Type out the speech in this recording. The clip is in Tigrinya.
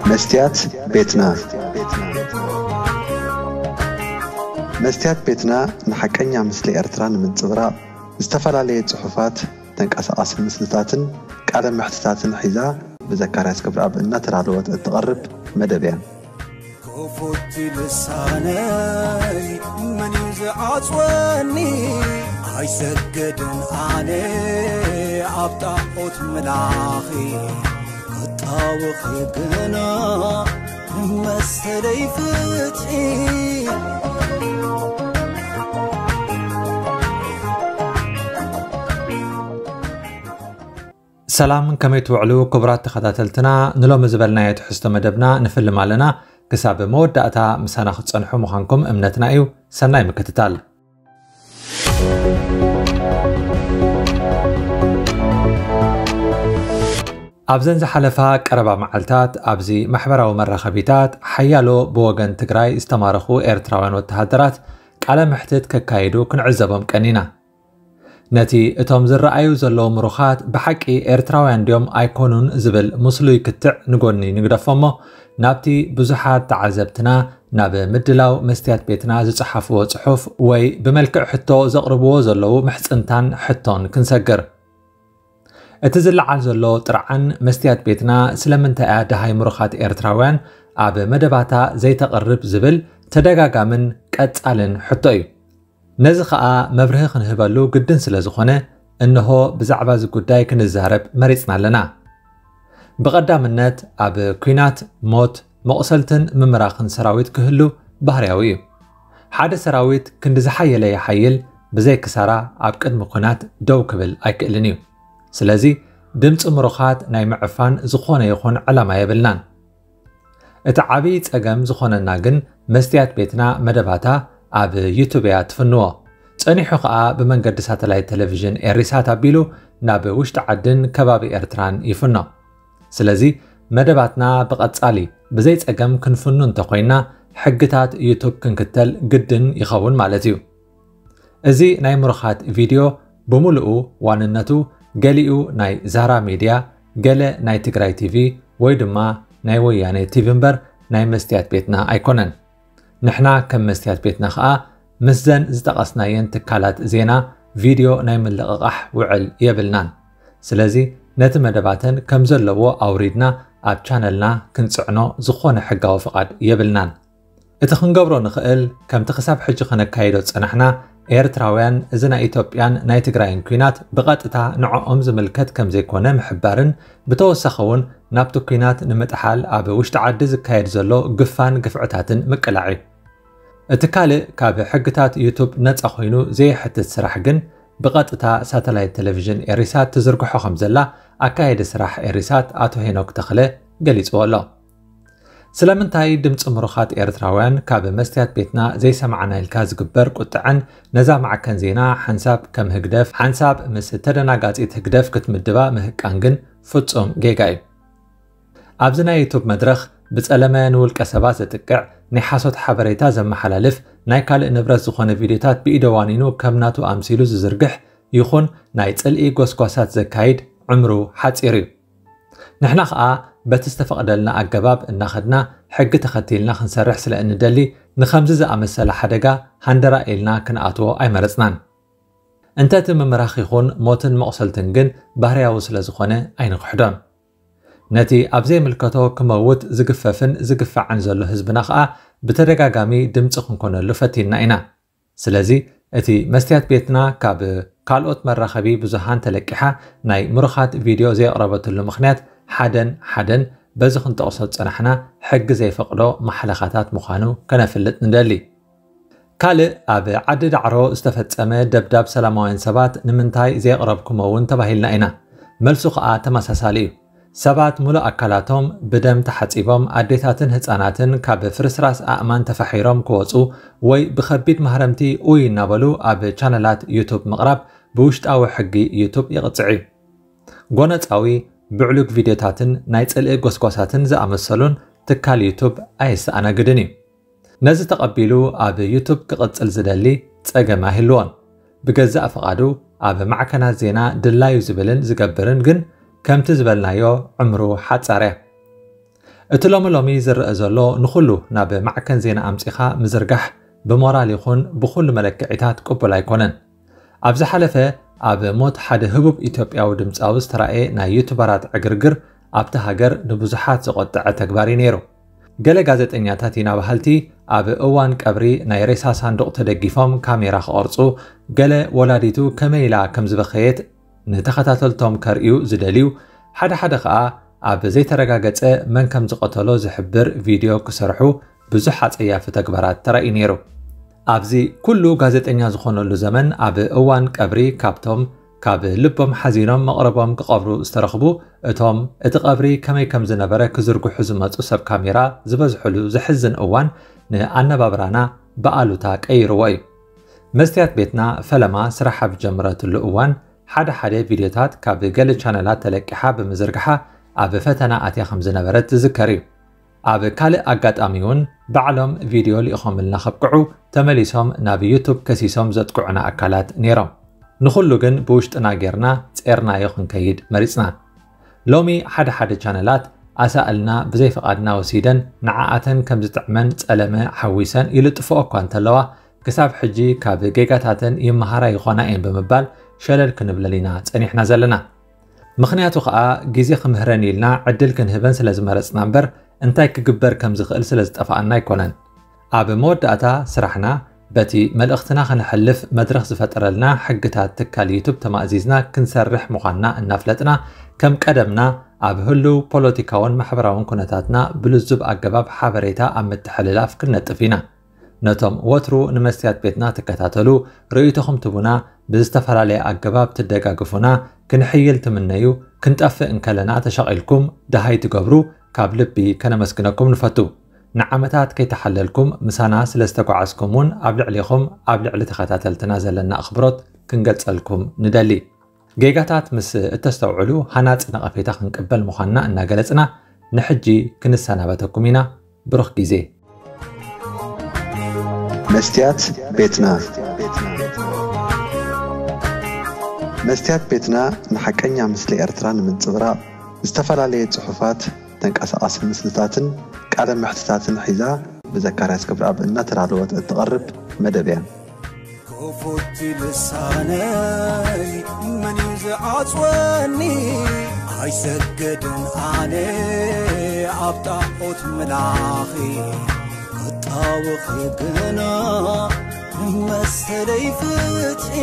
መስትያት ቤትና። መስትያት ቤትና ንሓቀኛ ምስሊ ኤርትራ ንምንጽብራቕ ዝተፈላለየ ጽሑፋት፣ ተንቀሳቓሲ ምስልታትን ቃለ መሕትታትን ሒዛ ብዘካርያስ ገብረኣብ እናተዳለወት እትቐርብ መደብ እያ። ክፉት ልሳነይ መን እዩ ዝዓጽወኒ? ኣይሰግድን ኣነ ኣብ ጣዖት ምላኺ፣ ክጣወኺ ግና መሰለይ ፍትሒ። ሰላም፣ ከመይ ትውዕሉ ክቡራት ተኸታተልትና? ንሎሚ ዝበልናዮ ትሕዝቶ መደብና ንፍልም ኣለና። ክሳብ መወዳእታ ምሳና ክትጸንሑ ምዃንኩም እምነትና እዩ። ሰናይ ምክትታል። ኣብዘን ዝሓለፋ ቀረባ መዓልታት ኣብዚ ማሕበራዊ መራኸቢታት ሓያሎ ብወገን ትግራይ ዝተማረኹ ኤርትራውያን ወተሃደራት ቃለ መሕትት ከካይዱ ክንዕዘቦም ቀኒና። ነቲ እቶም ዝረኣዩ ዘለዉ ምሩኻት ብሓቂ ኤርትራውያን ድዮም ኣይኮኑን ዝብል ምስሉይ ክትዕ ንጎኒ ንግደፎ እሞ፣ ናብቲ ብዙሓት ተዓዘብትና ናብ ምድላው መስትያት ቤትና ዝጸሓፍዎ ጽሑፍ ወይ ብመልክዕ ሕቶ ዘቕርብዎ ዘለዉ ምሕጽንታን ሕቶን ክንሰግር። እቲ ዝለዓል ዘሎ ጥርዓን መስትያት ቤትና ስለምንታይ እያ ደሃይ ምሩኻት ኤርትራውያን ኣብ መደባታ ዘይተቕርብ ዝብል ተደጋጋምን ቀጻልን ሕቶ እዩ። ነዚ ኸኣ መብርሂ ክንህበሉ ግድን ስለ ዝኾነ፣ እንሆ ብዛዕባ እዚ ጉዳይ ክንዛረብ መሪጽና ኣለና። ብቐዳምነት ኣብ ኲናት ሞት፣ መቑሰልትን ምምራኽን ሰራዊት ክህሉ ባህርያዊ እዩ። ሓደ ሰራዊት ክንዲ ዝሓየለ ይሓይል፣ ብዘይ ክሳራ ኣብ ቅድሚ ኲናት ደው ክብል ኣይክእልን እዩ። ስለዚ ድምጺ ምሩኻት ናይ ምዕፋን ዝኾነ ይኹን ዕላማ የብልናን። እቲ ዓብዪ ጸገም ዝኾነና ግን መስትያት ቤትና መደባታ ኣብ ዩቱብ እያ ትፍንዎ። ጸኒሑ ኸኣ ብመንገዲ ሳተላይት ቴሌቪዥን ኤሪሳት ኣቢሉ ናብ ውሽጢ ዓድን ከባቢ ኤርትራን ይፍኖ። ስለዚ መደባትና ብቐጻሊ ብዘይ ጸገም ክንፍኑ እንተኾይና ሕግታት ዩቱብ ክንክተል ግድን ይኸውን ማለት እዩ። እዚ ናይ ምሩኻት ቪድዮ ብምሉኡ ዋንነቱ ገሊኡ ናይ ዛራ ሚድያ፣ ገለ ናይ ትግራይ ቲቪ ወይ ድማ ናይ ወያኔ ቲቪ እምበር ናይ መስትያት ቤትና ኣይኮነን። ንሕና ከም መስትያት ቤትና ኸኣ ምስዘን ዝጠቐስናየን ትካላት ዜና ቪድዮ ናይ ምልቕቓሕ ውዕል የብልናን። ስለዚ ነቲ መደባተን ከም ዘለዎ ኣውሪድና ኣብ ቻነልና ክንጽዕኖ ዝኾነ ሕጋዊ ፍቓድ የብልናን። እቲ ክንገብሮ ንኽእል፣ ከምቲ ክሳብ ሕጂ ከነካይዶ ዝጸናሕና፣ ኤርትራውያን እዚ ናይ ኢትዮጵያን ናይ ትግራይን ኲናት ብቐጥታ ንዕኦም ዝምልከት ከም ዘይኮነ ምሕባርን፣ ብተወሳኺ እውን ናብቲ ኲናት ንምጥሓል ኣብ ውሽጢ ዓዲ ዝካየድ ዘሎ ግፋን ግፍዕታትን ምቅላዕ እዩ። እቲ ካልእ ካብ ሕግታት ዩቱብ ነጻ ኮይኑ ዘየሕትት ስራሕ ግን ብቐጥታ ሳተላይት ቴሌቪዥን ኤሪሳት ትዝርግሖ ከም ዘላ ኣካየዲ ስራሕ ኤሪሳት ኣቶ ሄኖክ ተኽለ ገሊጽዎ ኣሎ። ስለምንታይ ድምፂ ምሩኻት ኤርትራውያን ካብ መስትያት ቤትና ዘይሰማዕና ኢልካ ዝግበር ቁጥዐን ነዛ ማዕከን ዜና ሓንሳብ ከም ህግደፍ ሓንሳብ ምስ ተደናጋፂት ህግደፍ ክትምድባ ምህቃን ግን ፍፁም ጌጋ እዩ። ኣብዚ ናይ ዩቱብ መድረኽ ብፀለመ ንውልቀ ሰባት ዘጥቅዕ ናይ ሓሶት ሓበሬታ ዘመሓላልፍ ናይ ካልእ ንብረት ዝኾነ ቪድዮታት ብኢደ ዋኒኑ ከም ናቱ ኣምሲሉ ዝዝርግሕ ይኹን ናይ ፅልኢ ጎስጓሳት ዘካይድ ዕምሩ ሓፂር እዩ። ንሕና ኸኣ በቲ ዝተፈቕደልና ኣገባብ እናኸድና ሕጊ ተኸቲልና ክንሰርሕ ስለ እንደሊ ንኸምዚ ዝኣመሰለ ሓደጋ ሃንደራ ኢልና ክንኣትዎ ኣይመረፅናን። እንተ እቲ ምምራኽ ይኹን ሞትን መቑሰልትን ግን ባህርያዊ ስለ ዝኾነ ኣይንኽሕዶን። ነቲ ኣብ ዘይምልከቶ ክመውት ዝግፈፍን ዝግፋዕን ዘሎ ህዝብና ኸኣ ብተደጋጋሚ ድምፂ ክንኮነሉ ፈቲንና ኢና። ስለዚ እቲ መስትያት ቤትና ካብ ካልኦት መራኸቢ ብዙሃን ተለቂሓ ናይ ምሩኻት ቪድዮ ዘየቕረበትሉ ምኽንያት ሓደን ሓደን በዚ ክንጠቕሶ ዝጸናሕና ሕጊ ዘይፈቕዶ ማሕለኻታት ምዃኑ ከነፍልጥ ንደሊ። ካልእ ኣብ ዓዲ ዳዕሮ ዝተፈጸመ ደብዳብ ሰላማውያን ሰባት ንምንታይ ዘየቕረብኩሞ እውን ተባሂልና ኢና። መልሱ ኸኣ ተመሳሳሊ እዩ። ሰባት ሙሉእ ኣካላቶም ብደም ተሓጺቦም፣ ኣዴታትን ህጻናትን ካብ ፍርስራስ ኣእማን ተፋሒሮም ክወጹ ወይ ብኸቢድ ማህረምቲ ኡይ እናበሉ ኣብ ቻነላት ዩቱብ ምቕራብ ብውሽጣዊ ሕጊ ዩቱብ ይቕጽዕ እዩ። ጎነጻዊ፣ ብዕሉግ ቪድዮታትን ናይ ጽልኢ ጎስጓሳትን ዝኣመሰሉን ትካል ዩቱብ ኣየሰኣናግድን እዩ። ነዚ ተቐቢሉ ኣብ ዩቱብ ክቕጽል ዝደሊ ጸገም ኣይህልዎን። ብገዛእ ፍቓዱ ኣብ ማዕከናት ዜና ድላዩ ዝብልን ዝገብርን ግን ከምቲ ዝበልናዮ ዕምሩ ሓጻር እያ። እቲ ሎሚ ሎሚ ዝረአ ዘሎ ንኹሉ ናብ ማዕከን ዜና ኣምጺኻ ምዝርጋሕ ብሞራል ይኹን ብኹሉ መለክዒታት ቅቡል ኣይኮነን። ኣብ ዝሓለፈ ኣብ ሞት ሓደ ህቡብ ኢትዮጵያዊ ድምጻዊ ዝተራእየ ናይ ዩቱበራት ዕግርግር ኣብቲ ሃገር ንብዙሓት ዘቖጠዐ ተግባር እዩ ነይሩ። ገለ ጋዜጠኛታት ኢና በሃልቲ ኣብ እዋን ቀብሪ ናይ ሬሳ ሳንዱቕ ተደጊፎም ካሜራ ክቐርጹ፣ ገለ ወላዲቱ ከመይ ኢላ ከም ዝበኸየት ንተኸታተልቶም ከርእዩ ዝደልዩ፣ ሓደ ሓደ ኸኣ ኣብ ዘይተረጋገጸ መን ከም ዝቐተሎ ዝሕብር ቪድዮ ክሰርሑ ብዙሕ ኣጸያፊ ተግባራት ተራእዩ ነይሩ። ኣብዚ ኩሉ ጋዜጠኛ ዝኾነሉ ዘመን ኣብ እዋን ቀብሪ ካብቶም ካብ ልቦም ሓዚኖም መቕረቦም ክቐብሩ ዝተረኽቡ እቶም እቲ ቀብሪ ከመይ ከም ዝነበረ ክዝርግሑ ዝመጹ ሰብ ካሜራ ዝበዝሕሉ ዘሕዝን እዋን ንኣነባብራና ብኣሉታ ቀይርዎ እዩ። መስትያት ቤትና ፈለማ ስራሕ ኣብ ጀምረትሉ እዋን ሓደ ሓደ ቪድዮታት ካብ ገለ ቻነላት ተለቂሓ ብምዝርግሓ ኣብ ፈተና ኣትያ ከም ዝነበረት ዝዝከር እዩ። ኣብ ካልእ ኣጋጣሚ እውን ባዕሎም ቪድዮ ልኢኾምልና ከብቅዑ ተመሊሶም ናብ ዩቱብ ከሲሶም ዘጥቅዑና ኣካላት ነይሮም። ንኹሉ ግን ብውሽጥና ጌርና ጼርናዮ ክንከይድ መሪጽና። ሎሚ ሓደ ሓደ ቻነላት ኣሳእልና ብዘይፍቓድና ወሲደን ንዓኣተን ከም ዝጥዕመን ጸለመ ሓዊሰን ይልጥፍኦ እኳ እንተለዋ፣ ክሳብ ሕጂ ካብ ጌጋታተን ይመሃራ ይኾና እየን ብምባል ሸለል ክንብለን ኢና ጸኒሕና ዘለና። ምኽንያቱ ኸኣ ግዜ ክምህረን ኢልና ዕድል ክንህበን ስለ ዝመረጽና እምበር እንታይ ክግበር ከም ዝኽእል ስለ ዝጠፍኣና ኣይኮነን። ኣብ መወዳእታ ስራሕና በቲ መልእኽትና ከነሕልፍ መድረኽ ዝፈጠረልና ሕግታት ትካል ዩቱብ ተማእዚዝና ክንሰርሕ ምዃንና እናፍለጥና ከም ቀደምና ኣብ ህሉው ፖለቲካውን ማሕበራውን ኩነታትና ብልዙብ ኣገባብ ሓበሬታ ኣብ ምትሕልላፍ ክንነጥፍ ኢና። ነቶም ወትሩ ንመስትያት ቤትና ትከታተሉ፣ ርእይቶኹም ትቡና፣ ብዝተፈላለየ ኣገባብ ትደጋግፉና፣ ክንሕይል ትምነዩ፣ ክንጠፍእ እንከለና ተሻቒልኩም ደሃይ ትገብሩ ካብ ልቢ ከነመስግነኩም ንፈቱ። ንዓመታት ከይተሓለልኩም ምሳና ስለ ዝተጓዓዝኩም እውን ኣብ ልዕሊኹም ኣብ ልዕሊ ተኸታተልትና ዘለና ኣኽብሮት ክንገልጸልኩም ንደሊ። ጌጋታት ምስ እተስተውዕሉ ሃናጺ ነቐፌታ ክንቅበል ምዃንና እናገለጽና ንሕጂ ክንሰናበተኩም ኢና። ብሩኽ ግዜ። መስትያት ቤትና። መስትያት ቤትና ንሓቀኛ ምስሊ ኤርትራ ንምንጽብራቕ ዝተፈላለየ ጽሑፋት፣ ተንቀሳቓሲ ምስልታትን ቃለ መሕትታትን ሒዛ ብዘካርያስ ክብረኣብ እናተዳለወት እትቐርብ መደብ እያ። ክፉት ልሳነይ መን እዩ ዝዓጽወኒ? ኣይሰግድን ኣነ ኣብ ጣዖት ምላኺ፣ ክጣወኺ ግና መሰለይ ፍትሒ።